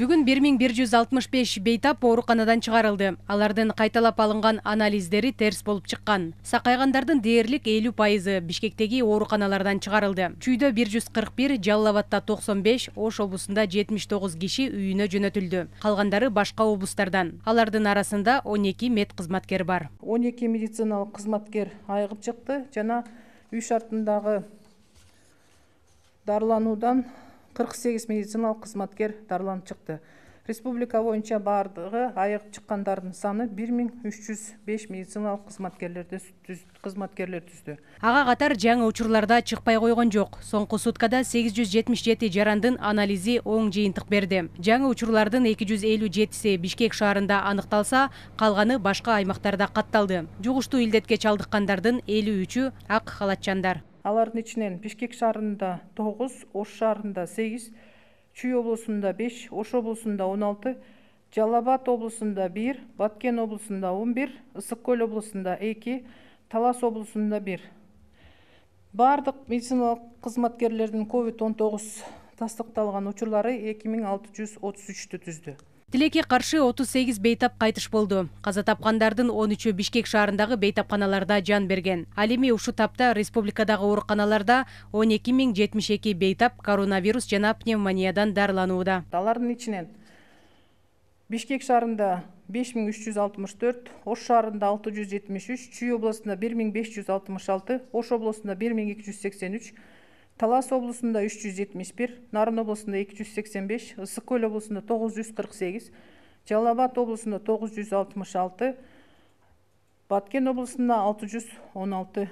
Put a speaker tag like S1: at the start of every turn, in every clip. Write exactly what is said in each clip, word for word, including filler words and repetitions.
S1: Бүгүн бир миң бир жүз алтымыш беш бейтап ооруканадан чыгарылды. Алардын кайталап алынган анализдери терс болуп чыккан. Сакайгандардын дээрлик элүү пайызы Бишкектеги ооруканалардан чыгарылды. Чүйдө бир жүз кырк бир, Жалал Абадта токсон беш, Ош облусунда жетимиш тогуз киши үйүнө жөнөтүлдү. Калгандары башка облустардан. Алардын арасында он эки мед кызматкер бар.
S2: он эки медициналык кызматкер айыгып чыкты жана үй шартындагы дарылануудан кырк сегиз медициналык кызматкер дарыланып чыкты. Республика боюнча бардыгы айыгып чыккандардын саны бир миң үч жүз беш медициналык кызматкерлерди кызматкерлер түздү.
S1: Ага катар жаңы учурларда чыкпай койгон жок. Соңку суткада сегиз жүз жетимиш жети жарандын анализи оң жыйынтык берди. Жаңы учурлардын эки жүз элүү жетиси Бишкек шаарында аныкталса, калганы башка аймактарда катталды. Жугуштуу илдетке чалдыккандардын элүү үчү ак халатчандар.
S2: Алардын ичинен Бишкек шаарында тогуз, Ош шаарында сегиз, Чүй облусунда беш, Ош облусунда он алты, Жалал Абад облусунда бир, Баткен облусунда он бир, Ысык Көл облусунда эки, Талас облусунда бир. Бардык медициналык кызматкерлердин ковид он тогуз тастыкталган учурлары эки миң алты жүз отуз үчтү түздү.
S1: Тилекке каршы отуз сегиз бейтап кайтыш болду. Каза тапкандардын он үчү Бишкек шаарындагы бейтапканаларда жан берген. Ал эми ушул тапта республикадагы ооруканаларда он эки миң жетимиш эки бейтап коронавирус жана пневмониядан дарыланууда.
S2: Алардын ичинен Бишкек шаарында беш миң үч жүз алтымыш төрт, Ош шаарында алты жүз жетимиш үч, Чүй облусунда бир миң беш жүз алтымыш алты, Ош облусунда бир миң эки жүз сексен үч, Талас облусунда үч жүз жетимиш бир, Нарын облусунда эки жүз сексен беш, Ысык Көл облусунда тогуз жүз кырк сегиз, Жалал Абад облусунда тогуз жүз алтымыш алты, Баткен облусунда алты жүз он алты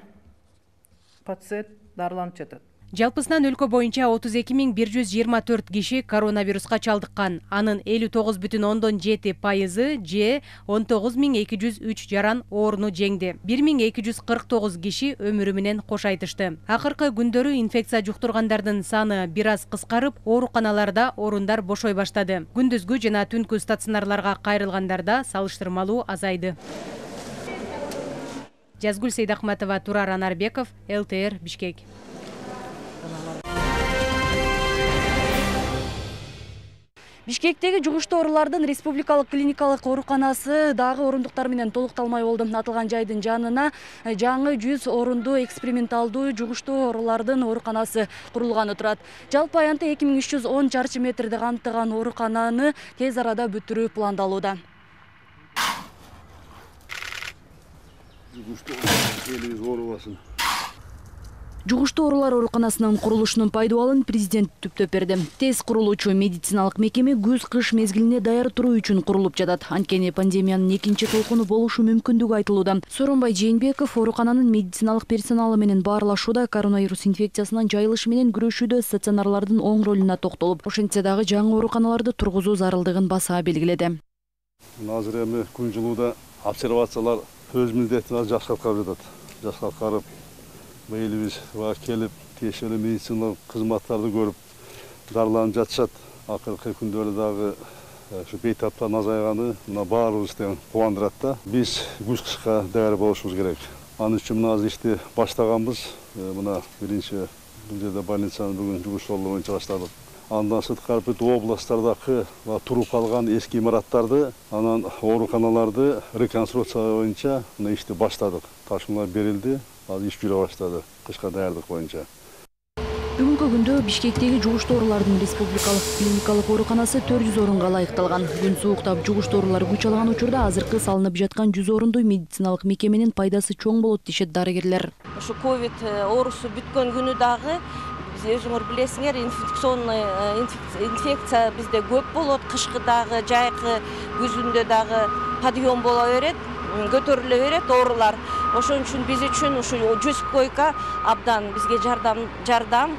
S2: пациент дарыланып жатат.
S1: Жалпысынан өлкө боюнча отуз эки миң бир жүз жыйырма төрт киши коронавируска чалдыккан. Анын элүү тогуз бүтүн ондон жети пайызы же он тогуз миң эки жүз үч жаран ооруну жеңди. бир миң эки жүз кырк тогуз киши өмүрү менен кош айтышты. Акыркы күндөрү инфекция жуктургандардын саны бир аз кыскарып, ооруканаларда орундар бошой баштады. Күндүзгү жана түнкү стационарларга кайрылгандарда салыштырмалуу азайды. Жазгүл Сейдахматова, Турар Анарбеков, эл тэ эр, Бишкек.
S3: Бишкектеги жугуштуу оорулардын республикалык клиникалык ооруканасы дагы орундуктар менен толукталмай болду. Аталган жайдын жанына жаңы жүз орундуу эксперименталдуу жугуштуу оорулардын ооруканасы курулганы турат. Жалпы аянты эки миң үч жүз он чарчы метрди камтыган оорукананы тез арада бүтүрүү пландалууда. Жугуштуу оорулар ооруканасынын курулушунун пайдубалын президент түптөп берди. Тез курулуучу медициналык мекеме күз-кыш мезгилине даяр туруу үчүн курулуп жатат. Анткени пандемиянын экинчи толкуну болушу мүмкүндүгү айтылууда. Сооронбай Жээнбеков оорукананын медициналык персоналы менен баарлашууда коронавирус инфекциясынын жайылышы менен күрөшүүдө стационарлардын оң ролуна токтолуп, ошентсе дагы жаңы ооруканаларды тургузуу зарылдыгын баса белгиледи.
S4: Азыр эми күн жылууда обсервациялар өз милдетин жакшы аткарып жатат. Жакшы аткарып элибиз келип, тиешелүү медициналык кызматтарды көрүп, дарыланып жатышат. Акыркы күндөрдө дагы ушу бейтаптан азайганы мына баарыбызды кубандырат да. Биз күз-кышка даяр болушубуз керек. Анын үчүн мына азыр ишти баштаганбыз. Мына биринчи бул жерде больницаны бүгүн жугуштуу боюнча баштадык. Андан сырткары бүт областтардагы туруп калган эски имараттарды, анан ооруканаларды реконструкция боюнча мына ишти баштадык. Ташмалар берилди. Азыр иш жүрө баштады, кышка даярдык боюнча.
S3: Бүгүнкү күндө Бишкектеги жугуштуу оорулардын республикалык клиникалык ооруканасы төрт жүз орунга ылайыкталган. Күн сууктап жугуштуу оорулар күч алган учурда азыркы салынып жаткан жүз орунду медициналык мекеменин пайдасы чоң болот дешет дарыгерлер.
S5: Ушу ковид оорусу бүткөн күнү дагы өзүңөр билесиңер, инфекционный инфекция бизде көп болот. Кышкы дагы, жайкы, күзүндө дагы подъем боло берет, көтөрүлө берет оорулар. Ошон үчүн биз үчүн ушу жүз койка абдан бизге жардам жардам.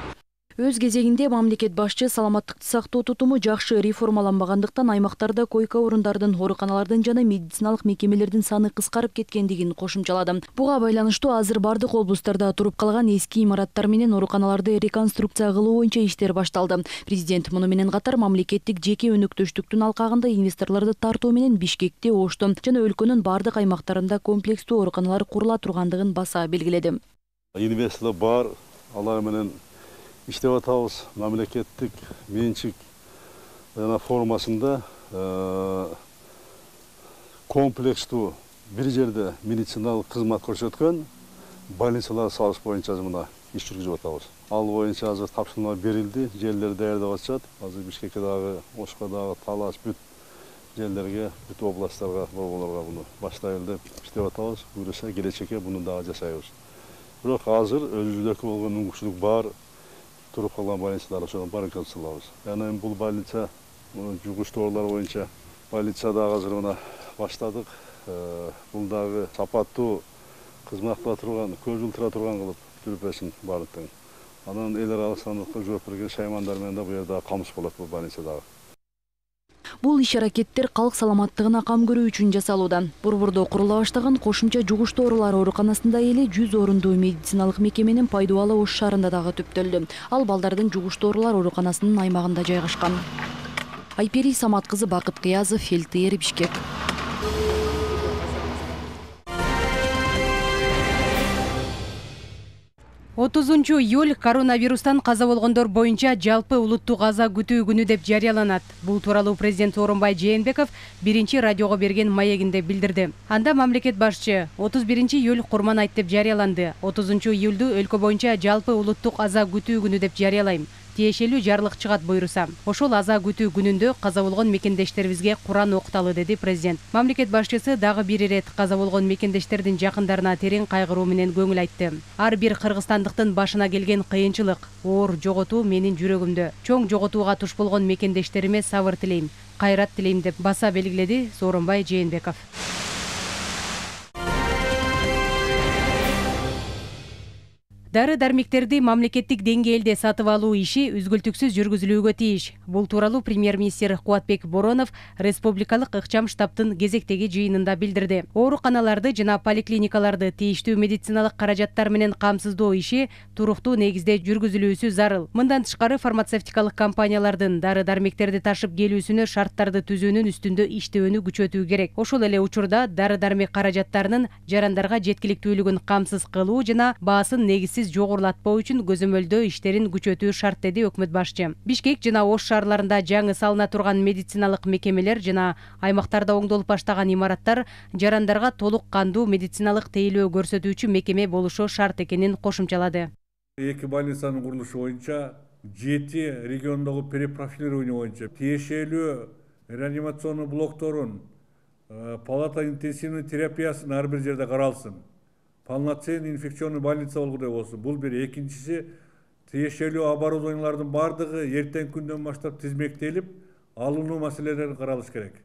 S3: Өз кезегинде мамлекет башчы саламаттыкты сактоо тутуму жакшы реформаланбагандыктан аймактарда койка орундардын, ооруканалардын жана медициналык мекемелердин саны кыскарып кеткендигин кошумчалады. Буга байланыштуу азыр бардык облустарда туруп калган эски имараттар менен ооруканаларды реконструкция кылуу боюнча иштер башталды. Президент муну менен катар мамлекеттик жеке өнөктөштүктүн алкагында инвесторлорду тартуу менен Бишкекте, Ошто жана өлкөнүн бардык аймактарында комплекстүү ооруканалар курула тургандыгын баса белгиледи.
S4: Инвесторлор бар, алар менен иштеп атабыз. Мамлекеттик менчик жана формасында комплекстүү бир жерде медициналык кызмат көрсөткөн больницалар салыш боюнча мына иш жүргүзүп атабыз. Ал боюнча азыр тапшырмалар берилди, жерлер даярдап атышат. Азыр Бишкекке дагы, Ошко дагы, Талас бүт жерлерге, бүт областтарга, борборлорго буну баштайлы деп иштеп атабыз. Буюрса келечекке буну дагы жасайбыз. Бирок азыр өзүбүздөргө болгон мүмкүнчүлүк бар. Туруп калган больницалар ошону баракат салабыз. Жана бул больница жугуш тоолор боюнча больница дагы азыр мына баштадык. Бул дагы сапаттуу кызмат кыла турган, көз жылтыра турган кылып жүрпөсүн баардыктын. Анан эл аралык сандыкка жооп берген шаймандар менен да бу жерде камыш болот бул больница дагы.
S3: Бул иш-аракеттер калк саламаттыгына кам көрүү үчүн жасалууда. Борбордо курула баштаган кошумча жугуш тоорулар ооруканасында эле жүз орундуу медициналык мекеменин пайдубалы Ош шаарында дагы түптөлдү. Ал балдардын жугуш тоорулар ооруканасынын аймагында жайгашкан. Айпери Самат кызы, Бакыт Кыязов, эл-тэ эр, Бишкек.
S1: отузунчу июль коронавирустан каза болгондор боюнча жалпы улуттук аза күтүү күнү деп жарыяланат. Бул тууралуу президент Сооронбай Жээнбеков биринчи радиого берген маегинде билдирди. Анда мамлекет башчы отуз биринчи июль Курман айт деп жарыяланды. отузунчу июлду өлкө боюнча жалпы улуттук аза күтүү күнү деп жарыялайм. Тиешелүү жарлык чыгат буйруса. Ошол аза күтүү күнүндө каза болгон мекендештерибизге Куран окуталы, деди президент. Мамлекет башчысы дагы бир ирет каза болгон мекендештердин жакындарына терең кайгыруу менен көңүл айтты. Ар бир кыргызстандыктын башына келген кыйынчылык, оор жоготуу менин жүрөгүмдө. Чоң жоготууга туш болгон мекендештериме сабыр тилейм, кайрат тилейм деп баса белгиледи Сооронбай Жээнбеков. Дары-дармектерди мамлекеттик деңгээлде сатып алуу иши үзгүлтүксүз жүргүзүлүүгө тийиш. Бул тууралуу премьер-министр Кубатбек Боронов республикалык ыкчам штабтын кезектеги жыйынында билдирди. Ооруканаларды жана поликлиникаларды тийиштүү медициналык каражаттар менен камсыздоо иши туруктуу негизде жүргүзүлүүсү зарыл. Мындан тышкары фармацевтикалык компаниялардын дары-дармектерди ташып келүүсүнө шарттарды түзүүнүн үстүндө иштөөнү күчөтүү керек. Ошол эле учурда дары-дармек каражаттарынын жарандарга жеткиликтүүлүгүн камсыз кылуу жана баасын негизсиз жогорулатпоо үчүн көзөмөлдөө иштерин күчөтүү шарт, деди өкмөт башчы. Бишкек жана Ош шаарларында жаңы салына турган медициналык мекемелер жана аймактарда оңдолуп баштаган имараттар жарандарга толук кандуу медициналык тейлөө көрсөтүүчү мекеме болушу шарт экенин кошумчалады.
S6: Эки больницанын курулушу боюнча жети региондогу перепрофилирование боюнча тиешелүү реанимационный блокторун, палата интенсивный терапиясын ар бир жерде каралсын. Полноценный инфекционный больница болгудай болсун. Бул бир. Экинчиси, тиешелүү оборудованиялардын бардыгы эртең күндөн баштап тизмектелип, алынуу маселелери каралыш керек.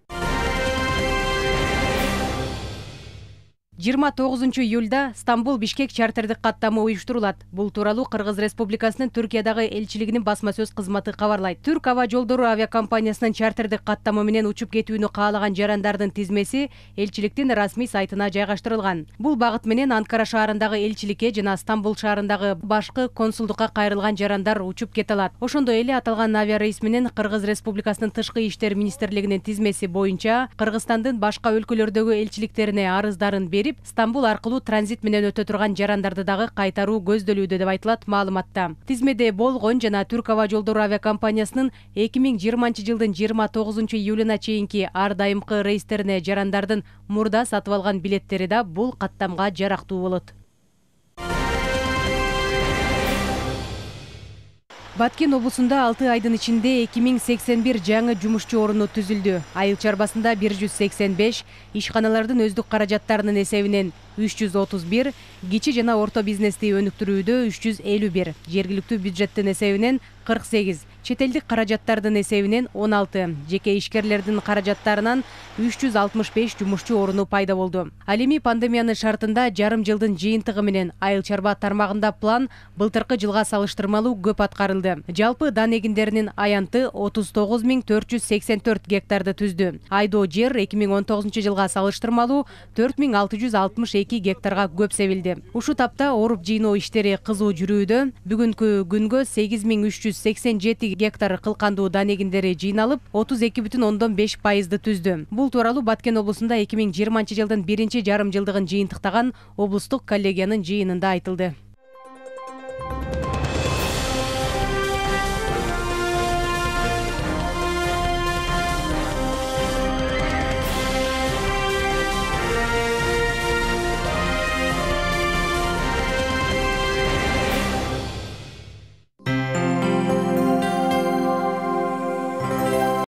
S1: жыйырма тогузунчу июлда Стамбул Бишкек чартердик каттамы уюштурулат. Бул тууралуу Кыргыз Республикасынын Түркиядагы элчилигинин басма сөз кызматы кабарлайт. Түрк аба жолдору авиакомпаниясынын чартердик каттамы менен учуп кетүүнү каалаган жарандардын тизмеси элчиликтин расмий сайтына жайгаштырылган. Бул багыт менен Анкара шаарындагы элчиликке жана Стамбул шаарындагы башкы консулдукка кайрылган жарандар учуп кете алат. Ошондой эле аталган авиарейс менен Кыргыз Республикасынын Тышкы иштер министрлигинин тизмеси боюнча Кыргызстандын башка өлкөлөрдөгү элчиликтерине арыздарын берип, Стамбул аркылуу транзит менен өтө турган жарандарды дагы кайтаруу көздөлүүдө деп айтылат маалыматта. Тизмеде болгон жана Түрк аба жолдору авиакомпаниясынын эки миң жыйырманчы жылдын жыйырма тогузунчу июлуна чейинки ар дайымкы рейстерине жарандардын мурда сатып алган билеттери да бул каттамга жарактуу болот. Баткен облусунда алты айдын ичинде эки миң сексен бир жаңы жумушчу орunu түзүлдү. Айыл чарбасында бир жүз сексен беш, ишканалардын өздүк каражаттарынын эсебинен үч жүз отуз бир, кичи жана орто бизнести өнүктүрүүдө үч жүз элүү бир, жергиликтүү бюджеттин эсебинен кырк сегиз, чет элдик каражаттардын эсебинен он алты, жеке ишкерлердин каражаттарынан үч жүз алтымыш беш жумушчу орunu пайда болду. Ал эми пандемиянын шартында жарым жылдын жыйынтыгы менен айыл чарба тармагында план былтыркы жылга салыштырмалуу көп аткарылды. Жалпы дан эгиндеринин аянты отуз тогуз миң төрт жүз сексен төрт гектарды түздү. Айдоо жер эки миң он тогузунчу жылга салыштырмалуу төрт миң алты жүз алтымыш эки гектарга көп себилди. Ушу тапта оруп жыйноо иштери кызуу жүрүүдө. Бүгүнкү күнгө сегиз миң үч жүз сексен жети гектар кылкандуу дан эгиндери жыйналып, отуз эки бүтүн ондон беш пайызды түздү. Бул тууралуу Баткен облусунда эки миң жыйырманчы жылдын биринчи жарым жылдыгын жыйынтыктаган облустук коллегиянын жыйынында айтылды.